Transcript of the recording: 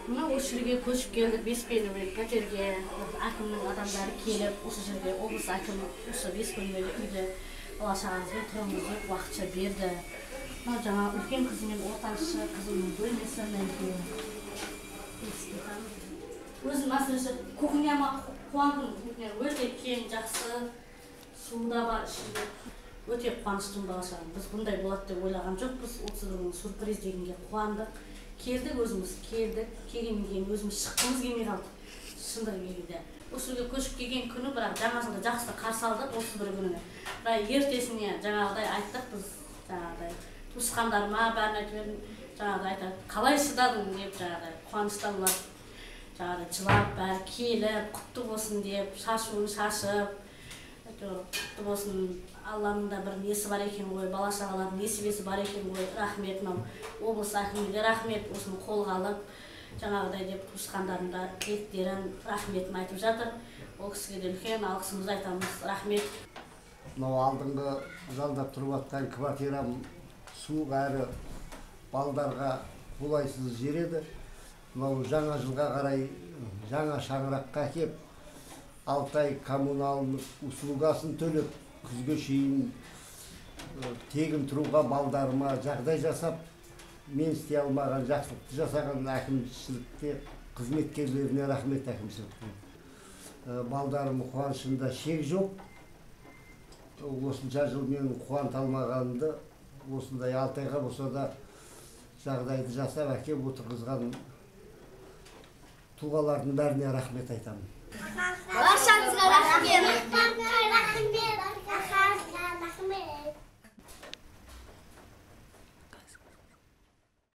Мына ошол жерге көчүп келдик, беспенелүү пәтерге. Акимдин адамдары келип, ошол жерге облус акимы ошо беспенелүү үйдө бала-чагаңызга туруңуз деп убакытча берди. Мына жаңа үлкен кызы менен ортанчы кызымдын бөлмесинен өзүм асырышы кухняма кубандым. Кухня өтө кең, жакшы, суу да бар ичинде. Өтө кубанычтуу бала-чагам. Биз мындай болот деп ойлаган жокпуз. 30 сюрприз дегенге кубандык. Келдик, өзүбүз келдик. Келгенден кийин өзүбүз чыккыбыз келмей калдык. Шындыгы келгенде. Ошол жерге көчүп келген күнү бирок жаңа жылды жакшы каршы алдык, 31 күнүнө. Бирок эртесине жаңагыдай айттык биз, жаңагыдай тушкандарыма баарын айтып бердим. Жаңагыдай айтат, калай шыдадың деп жаңагыдай кубанычтан улар жаңагыдай жылап, баары келип, куттуу болсун деп, шашуун шашып, куттуу болсун, Алланын да бир неси бар экен ғой, бала-чагалардын несибеси бар экен ғой. Рахмет, облус акимине рахмет, ушуну колго алып, жаңагыдай деп тушкандарына тилектерин, рахметін айтып жатыр. Ол кишиге да үлкен алкышыбызды айтабыз. Рахмет. Мынау алдыңғы жалдап туруп аткан квартирам суу ары балдарга кулайсыз жер эди. Мынау жаңа жылга карай жаңа шаңыракка кеп 6 ай коммуналдык услугасын төлөп, күзгө чейин тегин турууга балдарыма жагдай жасап, мен истей алмаган жакшылыкты жасаган акимчиликке, кызметкерлерине рахмет акимчиликтин. Балдарымдын кубанычында шек жок. Осунча жыл мен кубанта алмаганымды осундай 6 айга болсо да жагдайды жасап әкеп отургузган туугалардын баарына рахмет айтам. Баршаңызга рахмет.